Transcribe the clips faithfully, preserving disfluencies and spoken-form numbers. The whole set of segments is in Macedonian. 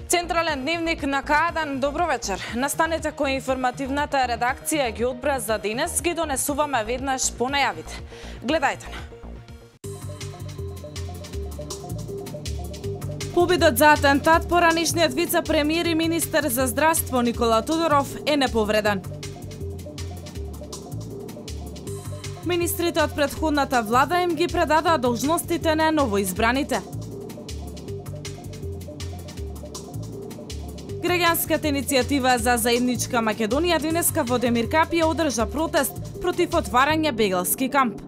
Централен дневник на К еден, добро вечер. Настанете кој информативната редакција ги одбра за денес, ги донесуваме веднаш по најавите. Гледајте на. Победот за атентат поранишниот вице-премиер и министер за здравство Никола Тодоров е неповреден. Министрите од претходната влада им ги предадоа должностите на новоизбраните. Граѓанската иницијатива за заедничка Македонија денеска во Демир Капи одржа протест против отварање бегалски камп.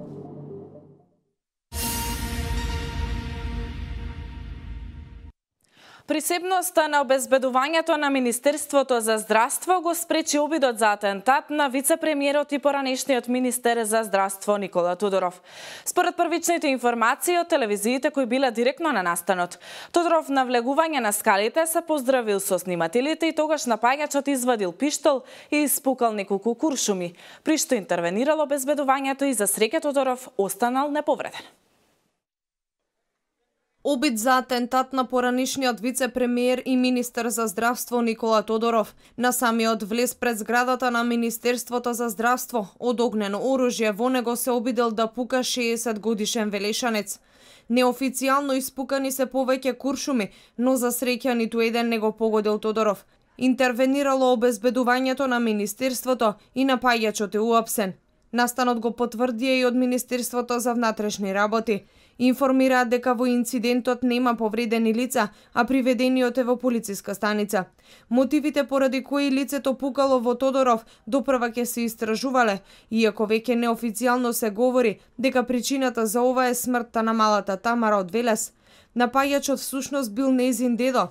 Присебноста на обезбедувањето на Министерството за здравство го спречи обидот за атентат на вице-премиерот и поранешниот министер за здравство Никола Тодоров. Според првичните информации од телевизиите кои биле директно на настанот, Тодоров на влегување на скалите се поздравил со снимателите и тогаш напаѓачот извадил пиштол и испукал неколку куршуми, при што интервенирало обезбедувањето и за среќа Тодоров останал неповреден. Обид за атентат на поранишниот вице-премиер и министер за здравство Никола Тодоров. На самиот влез пред зградата на Министерството за здравство од огнено оружје во него се обидел да пука шеесет годишен велешанец. Неофицијално испукани се повеќе куршуми, но за среќа ниту еден не го погодил Тодоров. Интервенирало обезбедувањето на Министерството и напаѓачот е уапсен. Настанот го потврдија и од Министерството за внатрешни работи. Информираат дека во инцидентот нема повредени лица, а приведениот е во полициска станица. Мотивите поради кои лицето пукало во Тодоров допрва ќе се истражувале, иако веќе неофицијално се говори дека причината за ова е смртта на малата Тамара од Велес. Напаѓачот всушност бил нејзин дедо.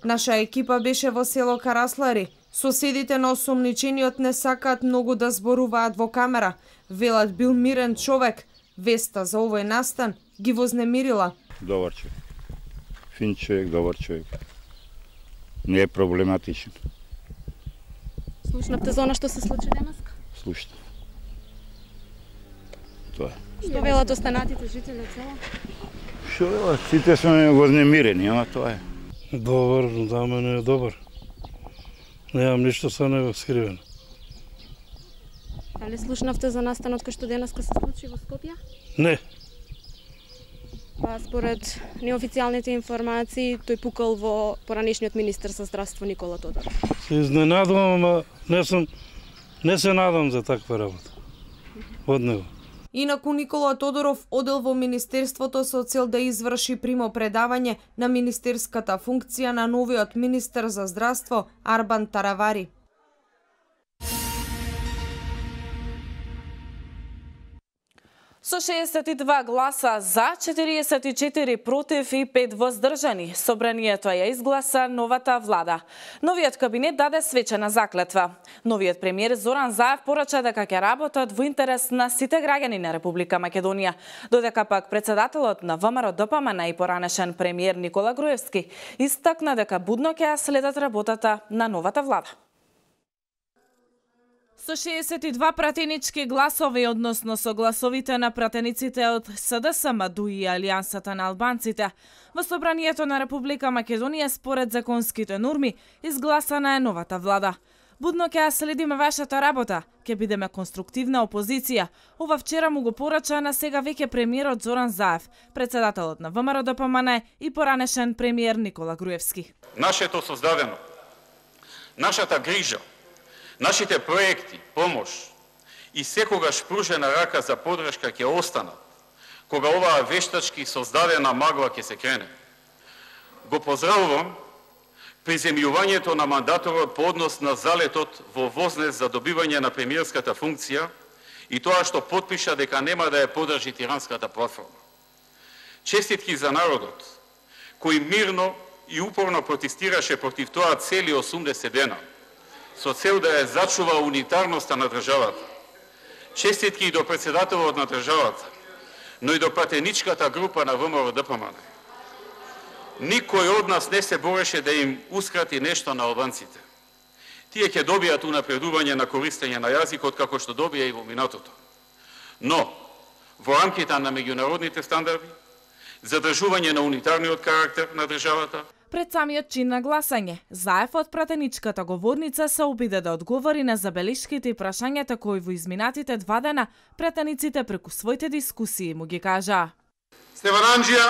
Наша екипа беше во село Караслари. Соседите на осомничениот не сакаат многу да зборуваат во камера. Велат бил мирен човек. Веста за овој настан ги вознемирила. Добар човек. Фин човек, добар човек. Не е проблематичен. Слушнавте за она што се случи денеска? Слушнав. Тоа е. Што велат останатите жители од село? Што велат? Сите сме вознемирени, ама тоа е. Добар, за мене е добар. Немам ништо со него скривено. Дали слушнавте за настанот кој што денеска се случи во Скопје? Не. Па според неофицијалните информации, тој пукал во поранешниот министер за здравство Никола Тодоров. Се изненадувам, ама не сум не се надам за таква работа од него. Инаку Никола Тодоров одел во Министерството со цел да изврши примопредавање на министерската функција на новиот министер за здравство Арбан Таравари. Со шеесет и два гласа за, четириесет и четири против и пет воздржани, собранието ја изгласа новата влада. Новиот кабинет даде свечена заклетва. Новиот премиер Зоран Заев порача дека ќе работат во интерес на сите граѓани на Република Македонија, додека пак председателот на ВМРО Д П М Н и поранешен премиер Никола Груевски истакна дека будно ќе ја следат работата на новата влада. Со шеесет и два пратенички гласови, односно со гласовите на пратениците од С Д С М, Д У И и Алијансата на албанците, во собранието на Република Македонија според законските норми изгласана е новата влада. Будно ќе ја следиме вашата работа, ќе бидеме конструктивна опозиција. Ова вчера му го порача на сега веќе премиерот Зоран Заев, председателот на ВМРО Д П М Н и поранешен премиер Никола Груевски. Нашето создадено, нашата грижа, нашите проекти, помош и секогаш пружена рака за подршка ќе останат, кога оваа вештачки создадена магла ќе се крене. Го поздравувам приземјувањето на мандаторот по однос на залетот во Вознес за добивање на премиерската функција и тоа што потпиша дека нема да ја подржи тиранската платформа. Честитки за народот, кој мирно и упорно протестираше против тоа цели осумдесет дена. со цел да ја зачува унитарноста на државата. Честитки и до председателот на државата, но и до пратеничката група на ВМРО Д П М Н. Никој од нас не се бореше да им ускрати нешто на албанците. Тие ќе добијат унапредување на користење на јазикот како што добија и во минатото. Но, во рамките на меѓународните стандарди, задржување на унитарниот карактер на државата. Пред самиот чин на гласање, Заев од пратеничката говорница се обиде да одговори на забелишките и прашањата кои во изминатите два дена пратениците преку своите дискусии му ги кажаа. Стефан Анџија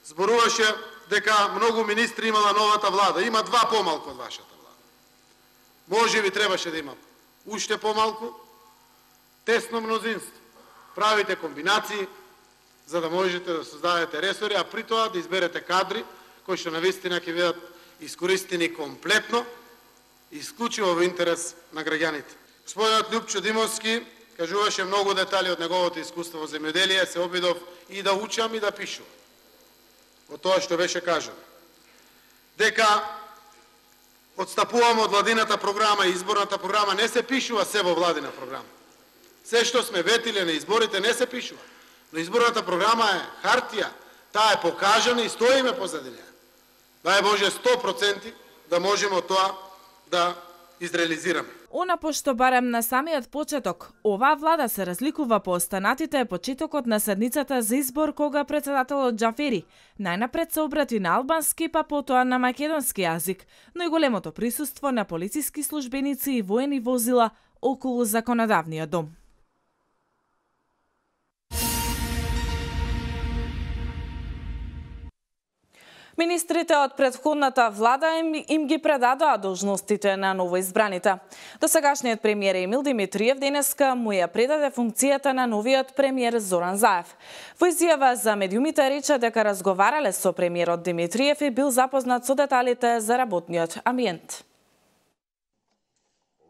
зборуваше дека многу министри имала новата влада. Има два помалку од вашата влада. Може би требаше да има уште помалку, тесно мнозинство. Правите комбинации за да можете да создадете ресори, а при тоа да изберете кадри кои што навистина ќе бидат искористени комплетно, исклучиво во интерес на граѓаните. Господинот Љупчо Димовски кажуваше многу детали од неговото искуство во земјоделие, се обидов и да учам и да пишувам. Од тоа што беше кажано. Дека отстапувам од владината програма и изборната програма, не се пишува се во владина програма. Се што сме ветиле на изборите не се пишува. Но изборната програма е хартија, таа е покажана и стоиме позади неја. Дај Боже сто проценти да можеме од тоа да изреализираме. Она пошто барем на самиот почеток, оваа влада се разликува по останатите е почетокот на седницата за избор кога председателот Џафери најнапред се обрати на албански, па потоа на македонски јазик, но и големото присуство на полициски службеници и воени возила околу законодавниот дом. Министрите од претходната влада им, им ги предадоа должностите на новоизбраните. Досегашниот премиер Емил Димитриев денеска му ја предаде функцијата на новиот премиер Зоран Заев. Во изјава за медиумите рече дека разговарале со премиерот Димитриев и бил запознат со деталите за работниот амбиент.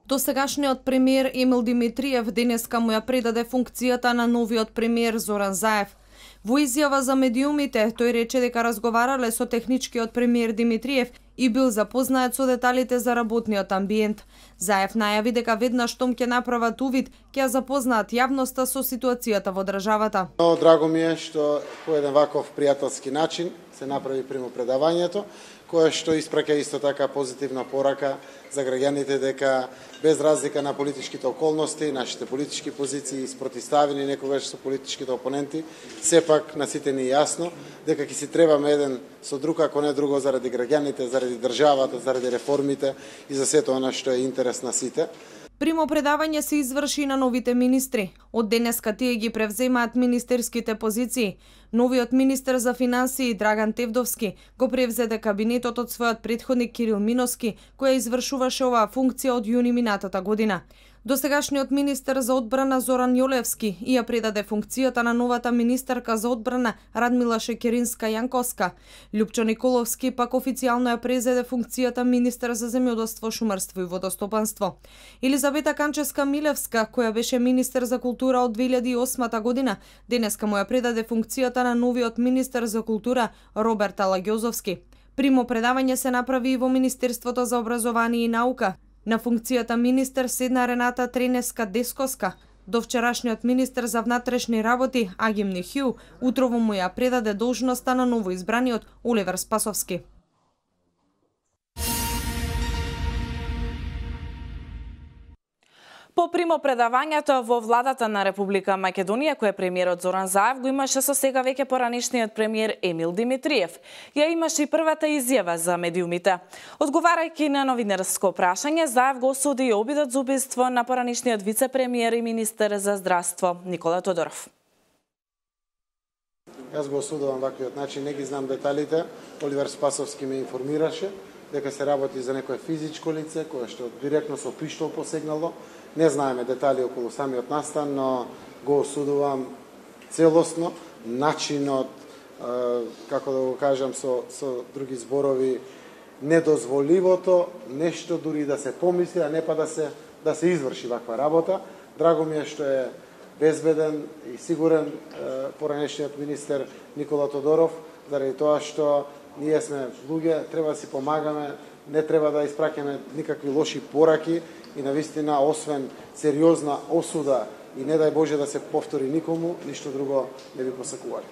Досегашниот премиер Емил Димитриев денеска му ја предаде функцијата на новиот премиер Зоран Заев. Во изјава за медиумите, тој рече дека разговарале со техничкиот премиер Димитриев и бил запознаат со деталите за работниот амбиент. Заев најави дека веднаш штом ќе направат увид, ќе запознаат јавноста со ситуацијата во државата. Но драго ми е што по еден ваков пријателски начин се направи примопредавањето, кое што испраќа исто така позитивна порака за граѓаните дека без разлика на политичките околности, нашите политички позиции спротивставени некогаш со политичките опоненти, сепак на сите ни јасно дека ќе си требаме еден со друг, ако не друго, заради граѓаните, заради државата, заради реформите и за сето она што е интерес на сите. Примопредавање се изврши на новите министри. Од денеска тие ги превземаат министерските позиции. Новиот министер за финансии Драган Тевдовски го превзеде кабинетот од својот претходник Кирил Миноски, која извршуваше оваа функција од јуни минатата година. Досегашниот министер за одбрана Зоран Јолевски и ја предаде функцијата на новата министерка за одбрана Радмила Шекеринска-Јанковска. Љупчо Николовски пак официјално ја презеде функцијата министер за земјоделство, шумарство и водостопанство. Елизабета Канчевска-Милевска, која беше министер за култура од две илјади и осма година, денеска му ја предаде функцијата на новиот министер за култура Роберт Алагјозовски. Примопредавање се направи и во Министерството за образование и наука. На функцијата министер седна Рената Тренеска-Десковска. До вчерашниот министер за внатрешни работи Агим Нихју утрово му ја предаде должноста на новоизбраниот Оливер Спасовски. По примопредавањето во владата на Република Македонија, кој премиерот Зоран Заев го имаше со сега веќе поранешниот премиер Емил Димитриев, ја имаше и првата изјава за медиумите. Одговарајќи на новинарско прашање, Заев го осуди и обидот за убиство на поранешниот вице-премиер и министер за здравство Никола Тодоров. Јас го осудувам ваквиот начин, не ги знам деталите. Оливер Спасовски ме информираше дека се работи за некое физичко лице кое што директно со пиштол посегнало. Не знаеме детали околу самиот настан, но го осудувам целосно начинот, како да го кажам со, со други зборови, недозволивото нешто дури да се помисли, а не па да се, да се изврши ваква работа. Драго ми е што е безбеден и сигурен поранешниот министер Никола Тодоров, заради тоа што ние сме луѓе, треба да си помагаме, не треба да испраќаме никакви лоши пораки и навистина, освен сериозна осуда и не дај Боже да се повтори никому, ништо друго не би посакували.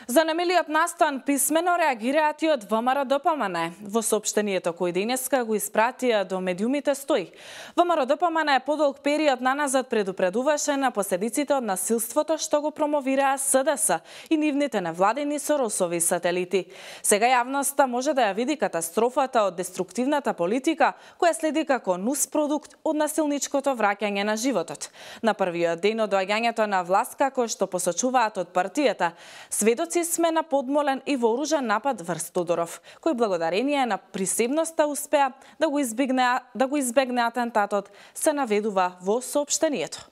За немилиот настан писмено реагираат и од ВМРО-ДПМН. Во соопштението кој денеска го испратија до медиумите стои. ВМРО-ДПМН подолг период наназад предупредуваше на последиците од насилството што го промовираа СДС и нивните невладени Соросови сателити. Сега јавноста може да ја види катастрофата од деструктивната политика која следи како нуспродукт од насилничкото враќање на животот. На првиот ден од доаѓањето на власт, како што посочуваат од партијата, сведоци сме на подмолен и вооружен напад врз Тодоров, кој благодарение на присебноста успеа да го избегне да го избегне атентатот, се наведува во соопштението.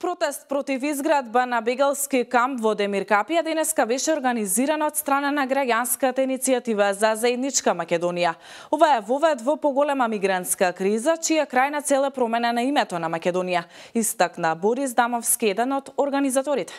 Протест против изградба на бегалски камп во Демиркапија денеска беше организиран од страна на граѓанската иницијатива за заедничка Македонија. Ова е вовед во поголема мигрантска криза, чија крајна цел е промена на името на Македонија, истакна Борис Дамовски, еден од организаторите.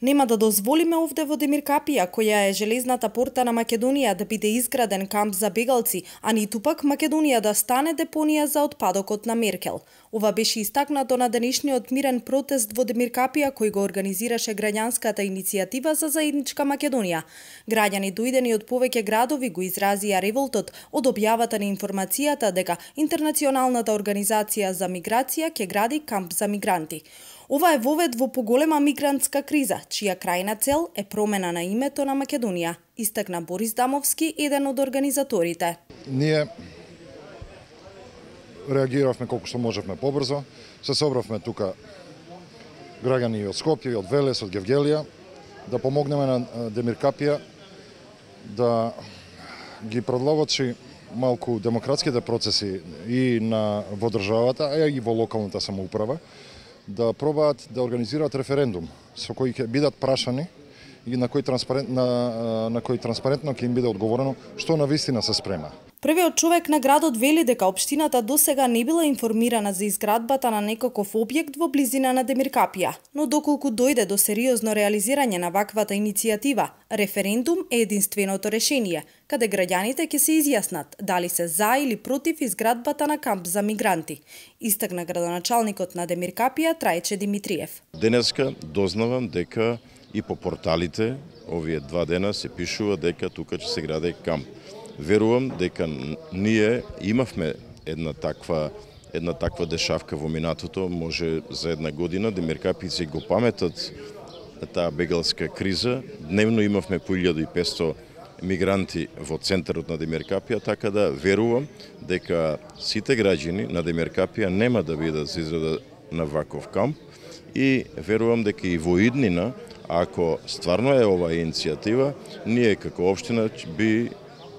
Нема да дозволиме овде во Демиркапија, која е железната порта на Македонија, да биде изграден камп за бегалци, а ниту пак Македонија да стане депонија за отпадокот на Меркел. Ова беше истакнато на денешниот мирен протест во Демиркапија кој го организираше граѓанската иницијатива за заедничка Македонија. Граѓани дојдени од повеќе градови го изразија револтот од објавата на информацијата дека Интернационалната организација за миграција ќе гради камп за мигранти. Ова е вовед во поголема мигрантска криза, чија крајна цел е промена на името на Македонија, истакна Борис Дамовски, еден од организаторите. Ние реагиравме колку што можевме побрзо, се собравме тука граѓани од Скопје, од Велес, од Гевгелија, да помогнеме на Демиркапија да ги продловочи малку демократските процеси и на во државата, а и во локалната самоуправа, да пробаат да организираат референдум со кој ќе бидат прашани и на кој транспарент на, на кој транспарентно ќе им биде одговорено што навистина се спрема. Првиот човек на градот вели дека општината досега не била информирана за изградбата на некаков објект во близина на Демиркапија, но доколку дојде до сериозно реализирање на ваквата иницијатива, референдум е единственото решение, каде граѓаните ќе се изјаснат дали се за или против изградбата на камп за мигранти, истакна градоначалникот на Демиркапија Трајче Димитриев. Денеска дознавам дека и по порталите овие два дена се пишува дека тука ќе се гради камп. Верувам дека ние имавме една таква една таква дешавка во минатото, може за една година, демиркапици го паметат таа бегалска криза. Дневно имавме по илјада и петсто мигранти во центарот на Демиркапија, така да верувам дека сите граѓани на Демиркапија нема да бидат за израда на ваков камп и верувам дека и во иднина, ако стварно е оваа иницијатива, ние како општина би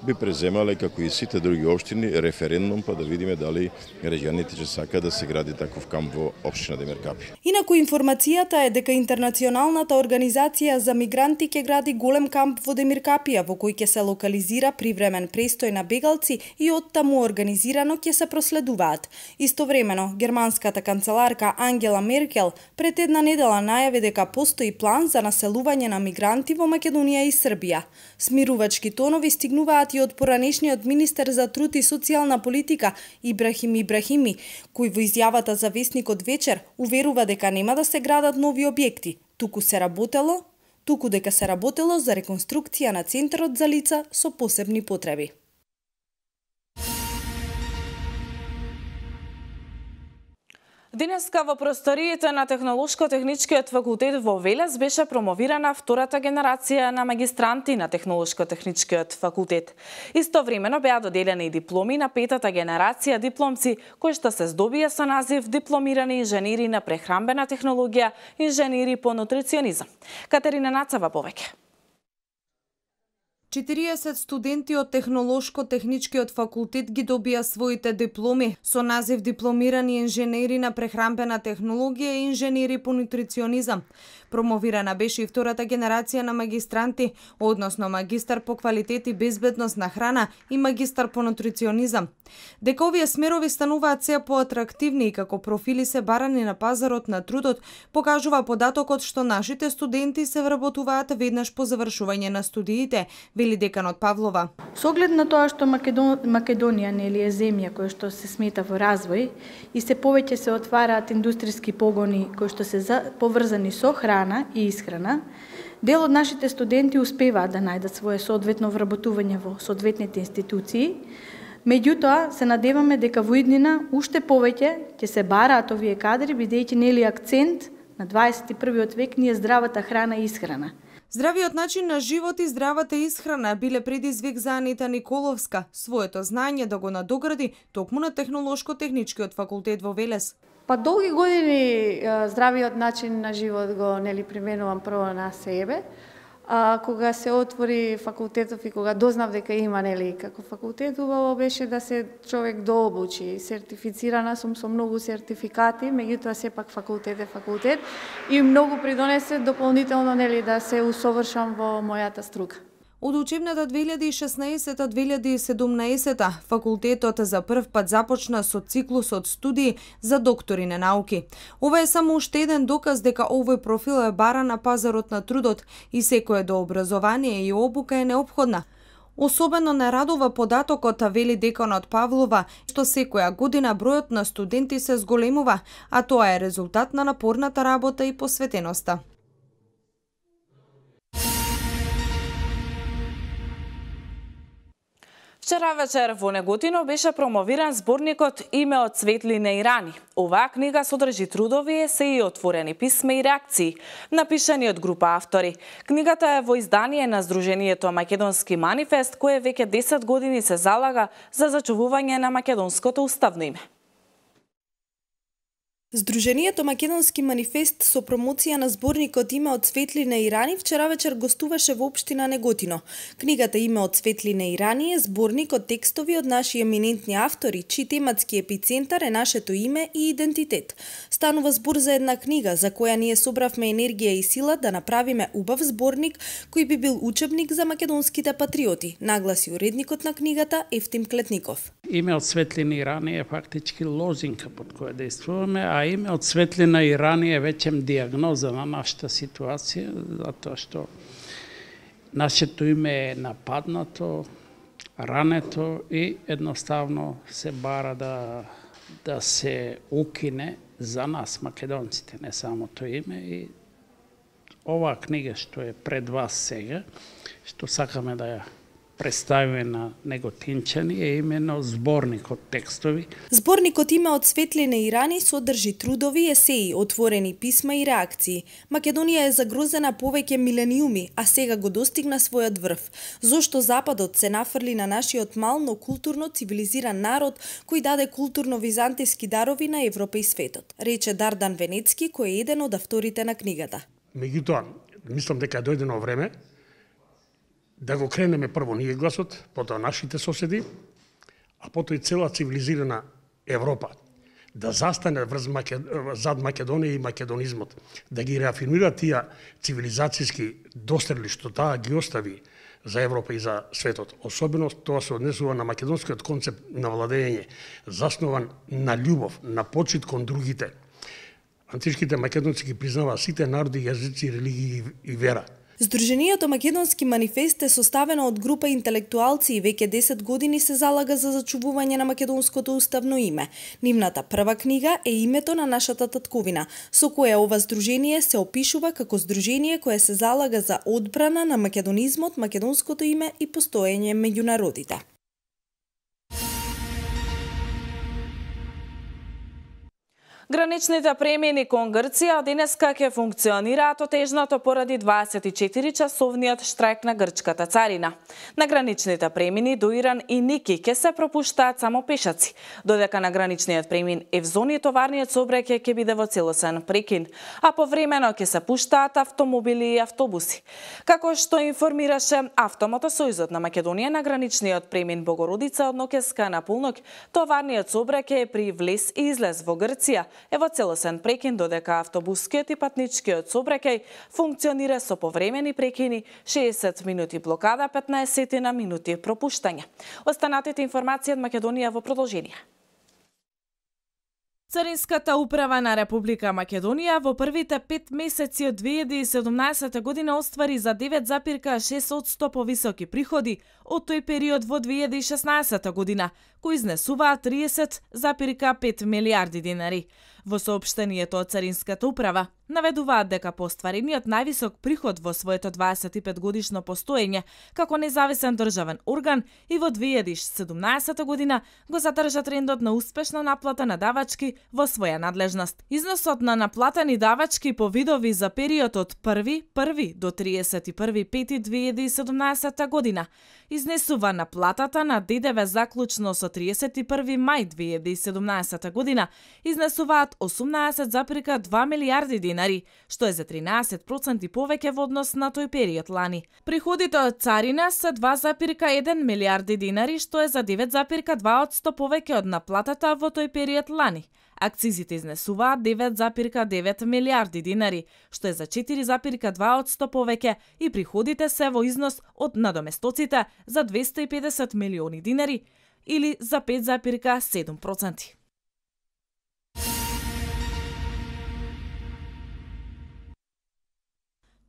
би преземале, како и сите други општини, референдум, па да видиме дали граѓаните ќе сака да се гради таков камп во општина Демиркапија. Инаку информацијата е дека Интернационалната организација за мигранти ќе гради голем камп во Демиркапија, во кој ќе се локализира привремен престој на бегалци и оттаму организирано ќе се проследуваат. Истовремено, германската канцеларка Ангела Меркел пред една недела најави дека постои план за населување на мигранти во Македонија и Србија. Смирувачки тонови стигнуваат и од поранешниот министер за труд и социјална политика Ибрахим Ибрахими, кој во изјавата за весникот Вечер уверува дека нема да се градат нови објекти, туку се работело, туку дека се работело за реконструкција на центарот за лица со посебни потреби. Денеска во просториите на Технолошко-техничкиот факултет во Велес беше промовирана втората генерација на магистранти на Технолошко-техничкиот факултет. Истовремено беа доделени дипломи на петата генерација дипломци кои што се здобија со назив дипломирани инженери на прехранбена технологија, инженери по нутриционизам. Катерина Нацава повеќе. четириесет студенти од Технолошко-техничкиот факултет ги добија своите дипломи со назив дипломирани инженери на прехранбена технологија и инженери по нутриционизам. Промовирана беше и втората генерација на магистранти, односно магистар по квалитет и безбедност на храна и магистар по нутриционизам. Дека овие смерови стануваат се поатрактивни и како профили се барани на пазарот на трудот, покажува податокот што нашите студенти се вработуваат веднаш по завршување на студиите, вели деканот Павлова. Со оглед на тоа што Македон... Македонија нели е земја која што се смета во развој и се повеќе се отвараат индустријски погони кои што се за... поврзани со храна и исхрана, дел од нашите студенти успеваат да најдат свое соодветно вработување во соодветните институции. Меѓутоа, се надеваме дека во иднина уште повеќе ќе се бараат овие кадри, бидејќи нели акцент на дваесет и првиот век ни е здравата храна и исхрана. Здравиот начин на живот и здравата исхрана биле предизвик за Анита Николовска, своето знаење да го надогради токму на Технолошко-техничкиот факултет во Велес. Па долги години здравиот начин на живот го нели применувам прво на себе. А кога се отвори факултетов и кога дознав дека има нели како факултет, убаво беше да се човек дообучи. Сертифицирана сум со многу сертификати, меѓутоа сепак факултет е факултет и многу придонесе дополнително нели да се усовршам во мојата струка. Од учебната две илјади и шеснаесета две илјади и седумнаесета факултетот за прв пат започна со циклус од студии за доктори на науки. Ова е само уште еден доказ дека овој профил е бара на пазарот на трудот и секое до образование и обука е неопходна. Особено не радува податокот, вели деканот Павлова, што секоја година бројот на студенти се зголемува, а тоа е резултат на напорната работа и посветеноста. Вчера вечер во Неготино беше промовиран зборникот Име од светлина и рани. Оваа книга содржи трудови, есеи, отворени писма и реакции, напишани од група автори. Книгата е во издание на Сдруженијето Македонски манифест, кое веќе десет години се залага за зачувување на македонското уставно име. Сдруженијето Македонски манифест со промоција на зборникот Име од светлина и рани вчера вечер гостуваше во општина Неготино. Книгата Име од светлина и рани е зборник од текстови од наши еминентни автори, чиј тематски епицентар е нашето име и идентитет. Станува збор за една книга за која ние собравме енергија и сила да направиме убав зборник кој би бил учебник за македонските патриоти, нагласи уредникот на книгата Ефтим Клетников. Име од светлина и рани е фактички лозинка под која действуваме, а име од светлина и рани е веќе диагноза на нашата ситуација, затоа што нашето име е нападнато, рането и едноставно се бара да, да се укине за нас, македонците, не само тоа име. И оваа книга што е пред вас сега, што сакаме да ја представиме на неготинчани е именно зборник од текстови. Зборникот Име од светлина и рани содржи трудови, есеи, отворени писма и реакции. Македонија е загрозена повеќе милениуми, а сега го достигна својот врв. Зошто Западот се нафрли на нашиот мал, но културно цивилизиран народ кој даде културно-византиски дарови на Европа и светот, рече Дардан Венецки, кој е еден од авторите на книгата. Меѓутоа, мислам дека е дојдено време да го кренеме прво ние гласот, потоа нашите соседи, а потоа и цела цивилизирана Европа да застане врз Макед... зад Македонија и македонизмот, да ги реафирмира тие цивилизацијски дострели што таа ги остави за Европа и за светот. Особено тоа се однесува на македонскиот концепт на владење, заснован на љубов, на почит кон другите. Античките македонци ги признаваа сите народи, јазици, религии и вера. Сдруженијето Македонски манифест е составено од група интелектуалци и веќе десет години се залага за зачувување на македонското уставно име. Нивната прва книга е Името на нашата татковина, со која ова здружение се опишува како здружение кое се залага за одбрана на македонизмот, македонското име и постоење меѓу народите. Граничните премини кон Грција денеска ќе функционираат отежнато поради дваесет и четири часовниот штрајк на грчката царина. На граничните премини до Иран и Ники ќе се пропуштаат само пешаци, додека на граничниот премин Евзони товарниот сообраќај ќе биде во целосен прекин, а повремено ќе се пуштаат автомобили и автобуси. Како што информираше Автомотосојузот на Македонија, на граничниот премин Богородица од Нокеска на Полнок, товарниот сообраќај е при влез и излез во Грција е во целосен прекин, додека автобускиот и патничкиот сообраќај функционира со повремени прекини, шеесет минути блокада, петнаесет на минути пропуштање. Останатите информации од Македонија во продолжение. Царинската управа на Република Македонија во првите пет месеци од две илјади и седумнаесета година оствари за девет запирка шест одсто повисоки приходи од тој период во две илјади и шеснаесета година, кои изнесуваат тридесет запирка пет милиарди динари. Во соопштението од Царинската управа наведуваат дека по остварениот највисок приход во своето дваесет и пет годишно постоење како независен државен орган и во две илјади и седумнаесета година го задржа трендот на успешна наплата на давачки во своја надлежност. Износот на наплатени давачки по видови за период од први први до триесет и први пети две илјади и седумнаесета година изнесува наплатата на ДДВ заклучно со триесет и први мај две илјади и седумнаесета година изнесуваат осумнаесет запирка два милиарди динари, што е за тринаесет проценти повеќе во однос на тој период лани. Приходите од царина се два запирка еден милиарди динари, што е за девет запирка два одсто повеќе од наплатата во тој период лани. Акцизите изнесуваат девет запирка девет милиарди динари, што е за четири запирка два одсто повеќе и приходите се во износ од надоместоците за двесте и педесет милиони динари или за пет запирка седум проценти.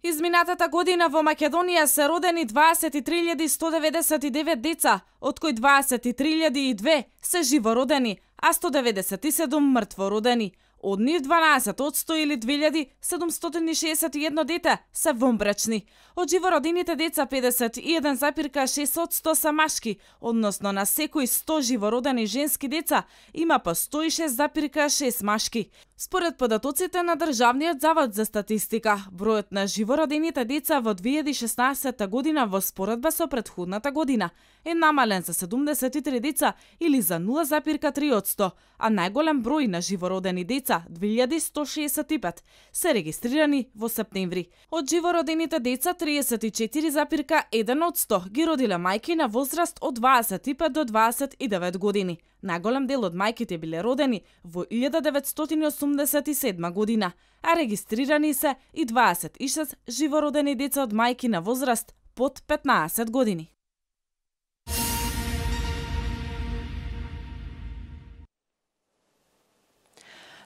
Изминатата година во Македонија се родени дваесет и три илјади сто деветдесет и девет деца, од кои дваесет и три илјади и две се живородени, а сто деветдесет и седум мртвородени. Од нив дванаесет одсто или две илјади седумстотини шеесет и едно дете се вонбрачни. Од живородените деца педесет и еден запирка шест одсто се машки, односно на секои сто живородени женски деца има по сто и шест запирка шест машки. Според податоците на Државниот завод за статистика, бројот на живородените деца во две илјади и шеснаесета година во споредба со претходната година е намален за седумдесет и три деца или за нула запирка три одсто, а најголем број на живородени деца, две илјади сто шеесет и пет, се регистрирани во септември. Од живородените деца, триесет и четири запирка еден одсто ги родиле мајки на возраст од дваесет и пет до дваесет и девет години. Најголем дел од мајките биле родени во илјада деветстотини осумдесет и седма година, а регистрирани се и дваесет и шест живородени деца од мајки на возраст под петнаесет години.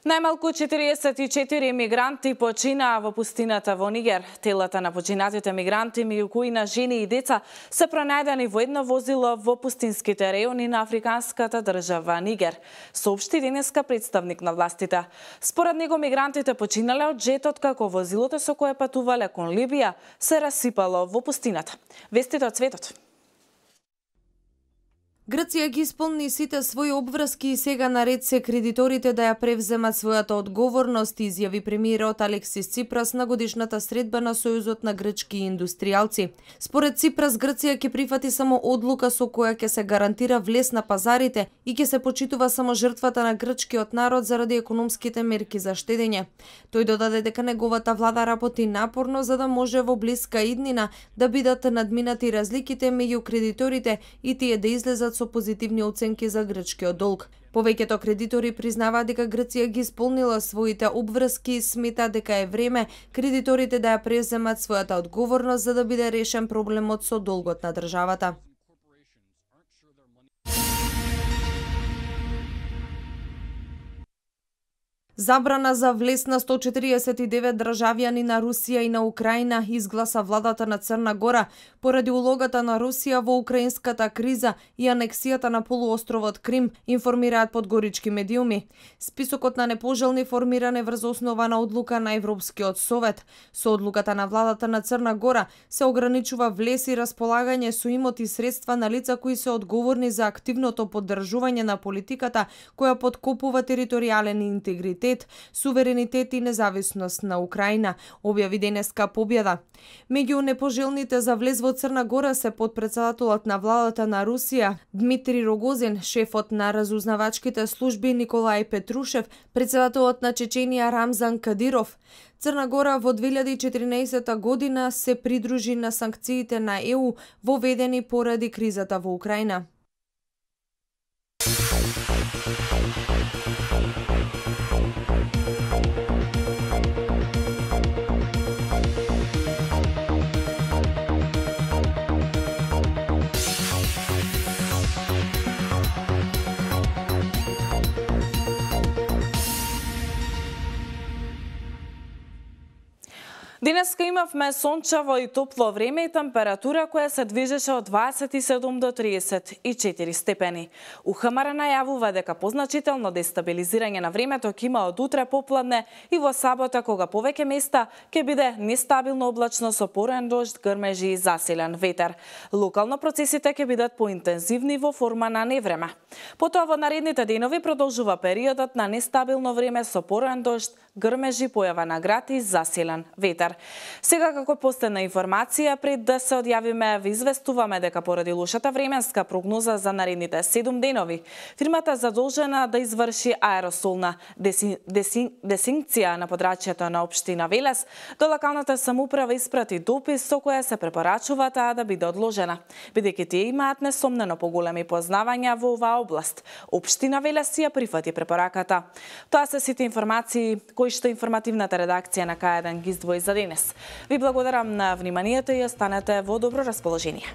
Најмалку четириесет и четири мигранти починаа во пустината во Нигер. Телата на починатите мигранти, меѓу кои на жени и деца, се пронајдени во едно возило во пустинските реони на африканската држава Нигер, соопшти денеска представник на властите. Според него мигрантите починале од джетот како возилото со кое патувале кон Либија се расипало во пустината. Вестите од светот. Грција ги исполни сите своји обврски и сега наред се кредиторите да ја превземат својата одговорност, изјави премиерот Алексис Ципрас на годишната средба на Сојузот на грчки индустријалци. Според Ципрас, Грција ќе прифати само одлука со која ќе се гарантира влез на пазарите и ќе се почитува само жртвата на грчкиот народ заради економските мерки за штедење. Тој додаде дека неговата влада работи напорно за да може во блиска иднина да бидат надминати разликите меѓу кредиторите и тие да излезат со позитивни оценки за грчкиот долг. Повеќето кредитори признаваат дека Грција ги исполнила своите обврски и смета дека е време кредиторите да ја преземат својата одговорност за да биде решен проблемот со долгот на државата. Забрана за влез на сто четириесет и девет државјани на Русија и на Украина изгласа владата на Црна Гора поради улогата на Русија во украинската криза и анексијата на полуостровот Крим, информираат подгорички медиуми. Списокот на непожелни формиран е врз основа на одлука на Европскиот совет. Со одлуката на владата на Црна Гора се ограничува влез и располагање со имоти и средства на лица кои се одговорни за активното поддржување на политиката која подкопува територијален интегритет, суверенитет и независност на Украина, објави денеска Победа. Меѓу непожелните за влез во Црна Гора се потпредседателот на владата на Русија Дмитрий Рогозин, шефот на разузнавачките служби Николај Петрушев, председателот на Чеченија Рамзан Кадиров. Црна Гора во две илјади и четиринаесета година се придружи на санкциите на Е У воведени поради кризата во Украина. Денеска имавме сончево и топло време и температура која се движеше од дваесет и седум до триесет и четири степени. УХМР најавува дека позначително дестабилизирање на времето ќе има од утре попладне и во сабота, кога повеќе места ќе биде нестабилно облачно со порен дожд, грмежи и засилен ветер. Локално процесите ќе бидат поинтензивни во форма на невреме. Потоа во наредните денови продолжува периодот на нестабилно време со порен дожд, грмежи, појава на град и засилен ветер. Сега, како последна информација, пред да се одјавиме, ви известуваме дека поради лошата временска прогноза за наредните седум денови, фирмата задолжена да изврши аеросолна деси, деси, десинкција на подрачјето на општина Велес, до локалната самоуправа испрати допис со која се препорачува таа да биде одложена, бидејќи тие имаат несомнено поголеми познавања во оваа област. Општина Велес ја прифати препораката. Тоа се сите информации кои што информативната редакција на К еден ги издвои за денес. Ви благодарам на вниманието и останете во добро расположение.